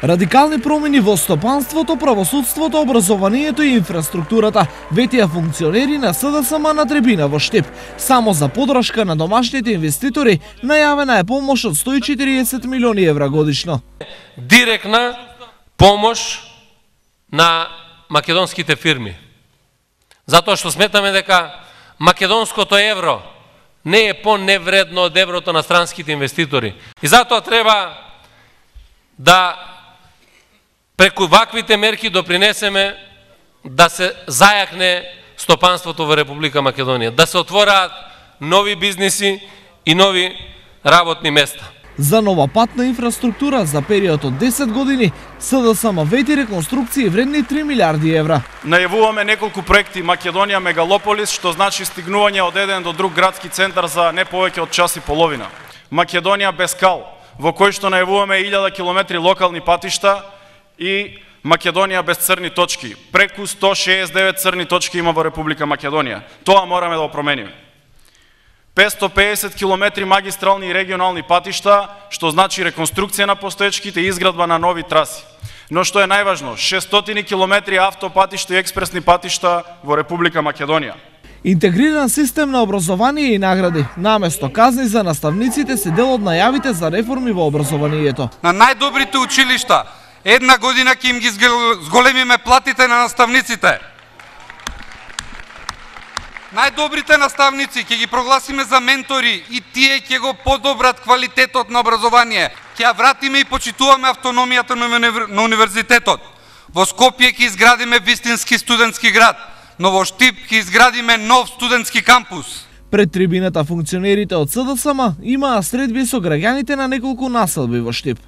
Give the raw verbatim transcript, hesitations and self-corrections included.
Радикални промени во стопанството, правосудството, образованието и инфраструктурата, ветија функционери на СДСМ на Требина во Штип. Само за подршка на домашните инвеститори најавена е помош од сто и четириесет милиони евра годишно. Директна помош на македонските фирми. Затоа што сметаме дека македонското евро не е по-невредно од еврото на странските инвеститори. И затоа треба да преку ваквите мерки допринесеме да се зајакне стопанството во Република Македонија, да се отвораат нови бизниси и нови работни места. За нова патна инфраструктура за период од десет години СДСМ вети реконструкции вредни три милиарди евра. Најавуваме неколку проекти Македонија Мегалополис, што значи стигнување од еден до друг градски центар за не повеќе од час и половина. Македонија без кал, во кој што најавуваме илјада километри локални патишта, и Македонија без црни точки. Преку сто шеесет и девет црни точки има во Република Македонија. Тоа мораме да го промениме. петстотини и педесет километри магистрални и регионални патишта, што значи реконструкција на постоечките и изградба на нови траси. Но што е најважно, шестстотини километри автопатишта и експресни патишта во Република Македонија. Интегриран систем на образование и награди, наместо казни за наставниците, се дел од најавите за реформи во образованието. На најдобрите училишта една година ќе им ги зголемиме платите на наставниците. Најдобрите наставници ќе ги прогласиме за ментори и тие ќе го подобрат квалитетот на образование. Ќе ја вратиме и почитуваме автономијата на универзитетот. Во Скопје ќе изградиме вистински студентски град, но во Штип ќе изградиме нов студентски кампус. Пред трибината функционерите од СДСМ имаа средби со граѓаните на неколку населби во Штип.